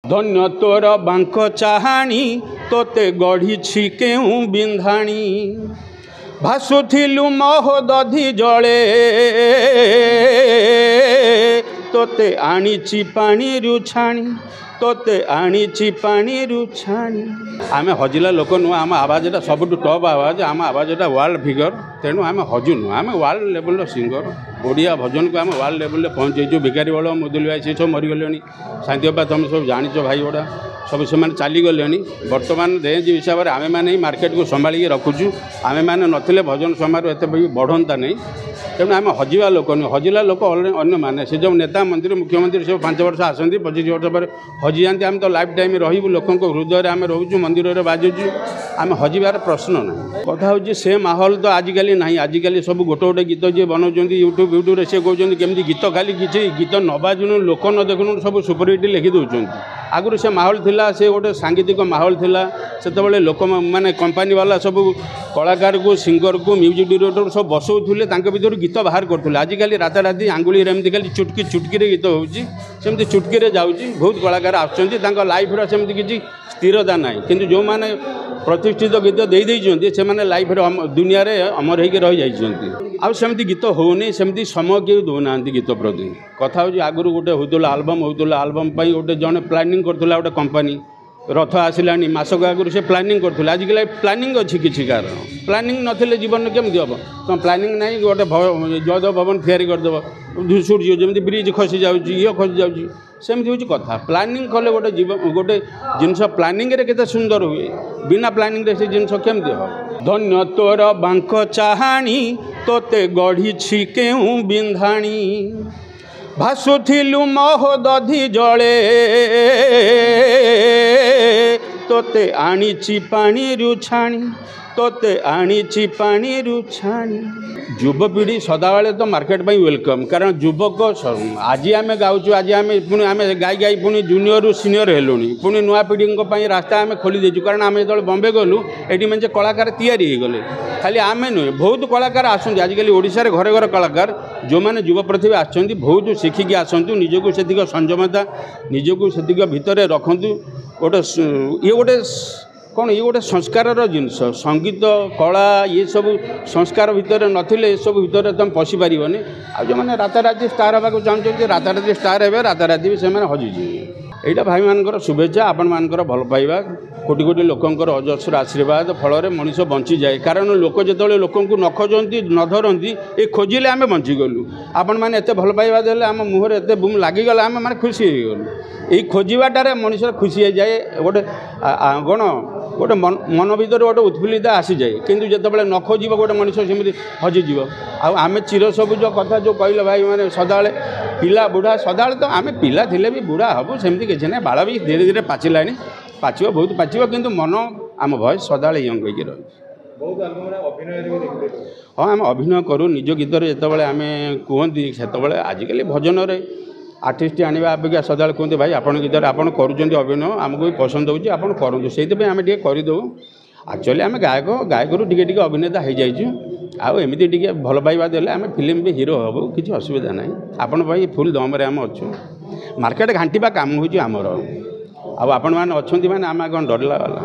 ଧନ୍ୟ ତୋର ବାଙ୍କ ଚାହାଣୀ, ତୋତେ ଗଢ଼ିଛି କେଉଁ ବିନ୍ଧାଣୀ। ଭାସୁଥିଲୁ ମହୋଦଧି ଜଳେ, ତୋତେ ଆଣିଛି ପାଣିରୁ ଛାଣି, ତୋତେ ଆଣିଛି ପାଣିରୁ ଛାଣି। ଆମେ ହଜିଲା ଲୋକ ନୁହଁ। ଆମ ଆବାଜଟା ସବୁଠୁ ଟପ୍ ଆବାଜ, ଆମ ଆବାଜଟା ୱାର୍ଲଡ ଫିଗର। ତେଣୁ ଆମେ ହଜୁନୁ, ଆମେ ୱାର୍ଲଡ ଲେବୁଲର ସିଙ୍ଗର। ଓଡ଼ିଆ ଭଜନକୁ ଆମେ ୱାର୍ଲଡ ଲେବୁଲରେ ପହଞ୍ଚେଇଛୁ। ଭିକାରୀ ବଳ, ମୁଦୁଲି ଭାଇ, ସେ ସବୁ ମରିଗଲେଣି। ଶାନ୍ତି ଅପା, ତୁମେ ସବୁ ଜାଣିଛ, ଭାଇ ଗୁଡ଼ା ସବୁ ସେମାନେ ଚାଲିଗଲେଣି। ବର୍ତ୍ତମାନ ରେଞ୍ଜ ହିସାବରେ ଆମେମାନେ ହିଁ ମାର୍କେଟକୁ ସମ୍ଭାଳିକି ରଖୁଛୁ। ଆମେମାନେ ନଥିଲେ ଭଜନ ସମାରୋହ ଏତେ ବି ବଢ଼ନ୍ତା ନାହିଁ। ତେଣୁ ଆମେ ହଜିବା ଲୋକ ନୁହେଁ। ହଜିଲା ଲୋକ ଅନ୍ୟମାନେ, ସେ ଯେଉଁ ନେତା, ମନ୍ତ୍ରୀ, ମୁଖ୍ୟମନ୍ତ୍ରୀ ସବୁ 5 ବର୍ଷ ଆସନ୍ତି, 25 ବର୍ଷ ପରେ ହଜିଯାଆନ୍ତି। ଆମେ ତ ଲାଇଫ୍ ଟାଇମ୍ ରହିବୁ, ଲୋକଙ୍କ ହୃଦୟରେ ଆମେ ରହୁଛୁ, ମନ୍ଦିରରେ ବାଜୁଛୁ। ଆମେ ହଜିବାର ପ୍ରଶ୍ନ ନାହିଁ। କଥା ହେଉଛି ସେ ମାହୋଲ ତ ଆଜିକାଲି ନାହିଁ। ଆଜିକାଲି ସବୁ ଗୋଟେ ଗୋଟେ ଗୀତ ଯିଏ ବନାଉଛନ୍ତି ୟୁଟ୍ୟୁବ୍ ୟୁଟ୍ୟୁବରେ, ସେ କହୁଛନ୍ତି କେମିତି ଗୀତ, ଖାଲି କିଛି ଗୀତ ନ ବାଜୁନୁ, ଲୋକ ନ ଦେଖୁନୁ, ସବୁ ସୁପରହିଟ୍ ଲେଖି ଦେଉଛନ୍ତି। ଆଗରୁ ସେ ମାହୋଲ ଥିଲା, ସେ ଗୋଟେ ସାଙ୍ଗୀତିକ ମାହୋଲ ଥିଲା। ସେତେବେଳେ ଲୋକ ମାନେ କମ୍ପାନୀ ବାଲା ସବୁ କଳାକାରକୁ, ସିଙ୍ଗରକୁ, ମ୍ୟୁଜିକ୍ ଡିରେକ୍ଟର ସବୁ ବସଉଥିଲେ, ତାଙ୍କ ଭିତରୁ ଗୀତ ବାହାର କରୁଥିଲେ। ଆଜିକାଲି ରାତାରାତି ଆଙ୍ଗୁଳିରେ ଏମିତି ଖାଲି ଚୁଟକି ଚୁଟକିରେ ଗୀତ ହେଉଛି, ସେମିତି ଚୁଟକିରେ ଯାଉଛି। ବହୁତ କଳାକାର ଆସୁଛନ୍ତି, ତାଙ୍କ ଲାଇଫ୍ର ସେମିତି କିଛି ସ୍ଥିରତା ନାହିଁ। କିନ୍ତୁ ଯେଉଁମାନେ ପ୍ରତିଷ୍ଠିତ ଗୀତ ଦେଇ ଦେଇଛନ୍ତି, ସେମାନେ ଲାଇଫ୍ରେ ଦୁନିଆରେ ଅମର ହେଇକି ରହିଯାଇଛନ୍ତି। ଆଉ ସେମିତି ଗୀତ ହେଉନି, ସେମିତି ସମୟ କେହି ଦେଉନାହାନ୍ତି ଗୀତ ପ୍ରତି। କଥା ହେଉଛି ଆଗରୁ ଗୋଟେ ହେଉଥିଲା ଆଲବମ୍, ହେଉଥିଲା ଆଲବମ୍ ପାଇଁ ଗୋଟେ ଜଣେ ପ୍ଲାନିଂ କରୁଥିଲା, ଗୋଟେ କମ୍ପାନୀ ରଥ ଆସିଲାଣି ମାସକ ଆଗରୁ ସେ ପ୍ଲାନିଂ କରୁଥିଲା। ଆଜିକାଲି ପ୍ଲାନିଂ ଅଛି କିଛି କାରଣ? ପ୍ଲାନିଂ ନଥିଲେ ଜୀବନରେ କେମିତି ହେବ? ତୁମ ପ୍ଲାନିଂ ନାହିଁ, ଗୋଟେ ଜୟଦେବ ଭବନ ତିଆରି କରିଦେବ, ସୂର୍ଯ୍ୟ ଯେମିତି ବ୍ରିଜ୍ ଖସି ଯାଉଛି, ଇଏ ଖସି ଯାଉଛି, ସେମିତି ହେଉଛି କଥା। ପ୍ଲାନିଂ କଲେ ଗୋଟେ ଜୀବ, ଗୋଟେ ଜିନିଷ ପ୍ଲାନିଂରେ କେତେ ସୁନ୍ଦର ହୁଏ, ବିନା ପ୍ଲାନିଂରେ ସେ ଜିନିଷ କେମିତି ହେବ? ଧନ୍ୟ ତୋର ବାଙ୍କ ଚାହାଣୀ, ତୋତେ ଗଢ଼ିଛି କେଉଁ ବିନ୍ଧାଣୀ। ଭାସୁଥିଲୁ ମହୋଦଧି ଜଳେ, ତୋତେ ଆଣିଛି ପାଣିରୁ ଛାଣି, ତୋତେ ଆଣିଛି ପାଣିରୁ ଛାଣି। ଯୁବପିଢ଼ି ସଦାବେଳେ ତ ମାର୍କେଟ ପାଇଁ welcome. କାରଣ ଯୁବକ ଆଜି ଆମେ ଗାଉଛୁ, ଆଜି ଆମେ ପୁଣି ଆମେ ଗାଇ ଗାଇ ପୁଣି ଜୁନିୟରରୁ ସିନିୟର ହେଲୁଣି, ପୁଣି ନୂଆ ପିଢ଼ିଙ୍କ ପାଇଁ ରାସ୍ତା ଆମେ ଖୋଲି ଦେଇଛୁ। କାରଣ ଆମେ ଯେତେବେଳେ ବମ୍ବେ ଗଲୁ, ଏଠି ମେଞ୍ଚେ କଳାକାର ତିଆରି ହେଇଗଲେ। ଖାଲି ଆମେ ନୁହେଁ, ବହୁତ କଳାକାର ଆସନ୍ତି ଆଜିକାଲି ଓଡ଼ିଶାରେ, ଘରେ ଘରେ କଳାକାର। ଯେଉଁମାନେ ଯୁବ ପ୍ରତିଭା ଆସିଛନ୍ତି, ବହୁତ ଶିଖିକି ଆସନ୍ତୁ, ନିଜକୁ ସେତିକି ସଂଯମତା, ନିଜକୁ ସେତିକି ଭିତରେ ରଖନ୍ତୁ। ଗୋଟେ ଇଏ ଗୋଟେ କ'ଣ, ଇଏ ଗୋଟେ ସଂସ୍କାରର ଜିନିଷ। ସଙ୍ଗୀତ, କଳା, ଇଏ ସବୁ ସଂସ୍କାର ଭିତରେ ନଥିଲେ ଏସବୁ ଭିତରେ ତୁମେ ପଶିପାରିବନି। ଆଉ ଯେଉଁମାନେ ରାତାରାତି ଷ୍ଟାର୍ ହେବାକୁ ଚାହୁଁଛନ୍ତି, ରାତାରାତି ଷ୍ଟାର୍ ହେବେ, ରାତାରାତି ବି ସେମାନେ ହଜିଯିବେ। ଏଇଟା ଭାଇମାନଙ୍କର ଶୁଭେଚ୍ଛା, ଆପଣମାନଙ୍କର ଭଲ ପାଇବା, କୋଟି କୋଟି ଲୋକଙ୍କର ଅଜସ୍ର ଆଶୀର୍ବାଦ ଫଳରେ ମଣିଷ ବଞ୍ଚିଯାଏ। କାରଣ ଲୋକ ଯେତେବେଳେ ଲୋକଙ୍କୁ ନ ଖୋଜନ୍ତି, ନ ଧରନ୍ତି, ଏ ଖୋଜିଲେ ଆମେ ବଞ୍ଚିଗଲୁ। ଆପଣମାନେ ଏତେ ଭଲ ପାଇବା ଦେଲେ, ଆମ ମୁହଁରେ ଏତେ ବୁମ୍ ଲାଗିଗଲା, ଆମେ ମାନେ ଖୁସି ହେଇଗଲୁ। ଏଇ ଖୋଜିବାଟାରେ ମଣିଷର ଖୁସି ହେଇଯାଏ, ଗୋଟେ କ'ଣ ଗୋଟେ ମନ ଭିତରେ ଗୋଟେ ଉତ୍ଫୁଲ୍ଲିତ ଆସିଯାଏ। କିନ୍ତୁ ଯେତେବେଳେ ନ ଖୋଜିବ, ଗୋଟେ ମଣିଷ ସେମିତି ହଜିଯିବ। ଆଉ ଆମେ ଚିରସବୁଜ କଥା ଯେଉଁ କହିଲେ ଭାଇମାନେ, ସଦାବେଳେ ପିଲା ବୁଢ଼ା ସଦାବେଳେ ତ ଆମେ ପିଲା ଥିଲେ ବି ବୁଢ଼ା ହେବୁ, ସେମିତି କିଛି ନାହିଁ। ବାଳ ବି ଧୀରେ ଧୀରେ ପାଚିଲାଣି, ପାଚିବ, ବହୁତ ପାଚିବ, କିନ୍ତୁ ମନ ଆମ ଭଏସ୍ ସଦାବେଳେ ୟଙ୍ଗ ହେଇକି ରହିଛି। ହଁ, ଆମେ ଅଭିନୟ କରୁ ନିଜ ଗୀତରେ ଯେତେବେଳେ ଆମେ କୁହନ୍ତି ସେତେବେଳେ। ଆଜିକାଲି ଭଜନରେ ଆର୍ଟିଷ୍ଟ ଆଣିବା ଅପେକ୍ଷା ସଦାବେଳେ କୁହନ୍ତି, ଭାଇ ଆପଣଙ୍କ ଗୀତରେ ଆପଣ କରୁଛନ୍ତି ଅଭିନୟ, ଆମକୁ ବି ପସନ୍ଦ ହେଉଛି, ଆପଣ କରନ୍ତୁ। ସେଇଥିପାଇଁ ଆମେ ଟିକେ କରିଦେଉ। ଆକ୍ଚୁଆଲି ଆମେ ଗାୟକ, ଗାୟକରୁ ଟିକେ ଟିକେ ଅଭିନେତା ହେଇଯାଇଛୁ। ଆଉ ଏମିତି ଟିକେ ଭଲ ପାଇବା ଦେଲେ ଆମେ ଫିଲ୍ମ ବି ହିରୋ ହେବୁ, କିଛି ଅସୁବିଧା ନାହିଁ। ଆପଣ ପାଇଁ ଫୁଲ୍ ଦମରେ ଆମେ ଅଛୁ। ମାର୍କେଟ ଘାଣ୍ଟିବା କାମ ହେଉଛି ଆମର। ଆଉ ଆପଣମାନେ ଅଛନ୍ତି ମାନେ ଆମେ କ'ଣ ଡରିଲା ବାଲା?